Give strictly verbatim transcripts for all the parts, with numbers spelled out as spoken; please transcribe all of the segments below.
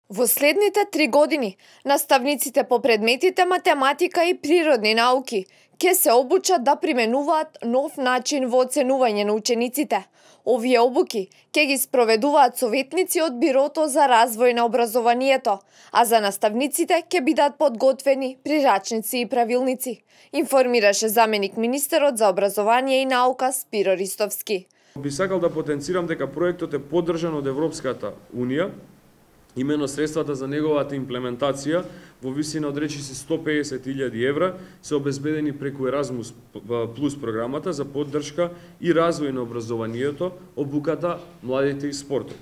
Во следните три години, наставниците по предметите математика и природни науки ќе се обучат да применуваат нов начин во оценување на учениците. Овие обуки ќе ги спроведуваат советници од Бирото за развој на образованието, а за наставниците ќе бидат подготвени прирачници и правилници, информираше заменик министерот за образование и наука Спиро Ристовски. Би сакал да потенцирам дека проектот е поддржан од Европската Унија. Имено средствата за неговата имплементација во висина од речиси сто педесет илјади евра се обезбедени преку Еразмус плюс програмата за поддршка и развој на образованието, обуката, младите и спортот.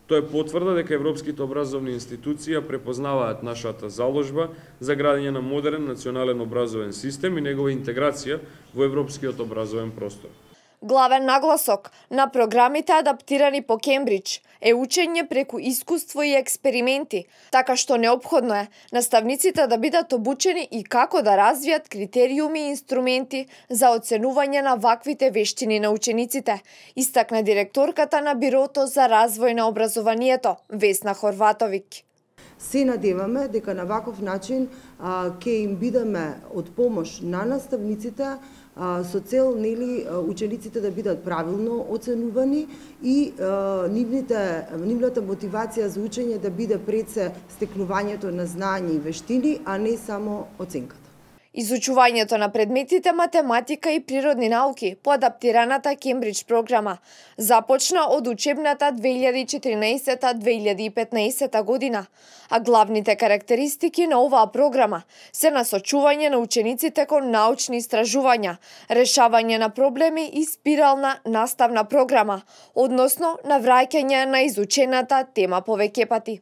Тоа е потврда дека европските образовни институции препознаваат нашата заложба за градење на модерен национален образовен систем и негова интеграција во европскиот образовен простор. Главен нагласок на програмите адаптирани по Кембридж е учење преку искуство и експерименти, така што неопходно е наставниците да бидат обучени и како да развијат критериуми и инструменти за оценување на ваквите вештини на учениците, истакна директорката на Бирото за развој на образованието Весна Хорватовиќ. Се надеваме дека на ваков начин а, ќе им бидеме од помош на наставниците а, со цел нели учениците да бидат правилно оценувани и а, нивните, нивната мотивација за учење да биде пред се стекнувањето на знаење и вештини, а не само оценката. Изучувањето на предметите математика и природни науки по адаптираната Кембридж програма започна од учебната две илјади и четиринаесета - две илјади и петнаесета година, а главните карактеристики на оваа програма се насочување на учениците кон научни истражувања, решавање на проблеми и спирална наставна програма, односно навраќање на изучената тема повеќе пати.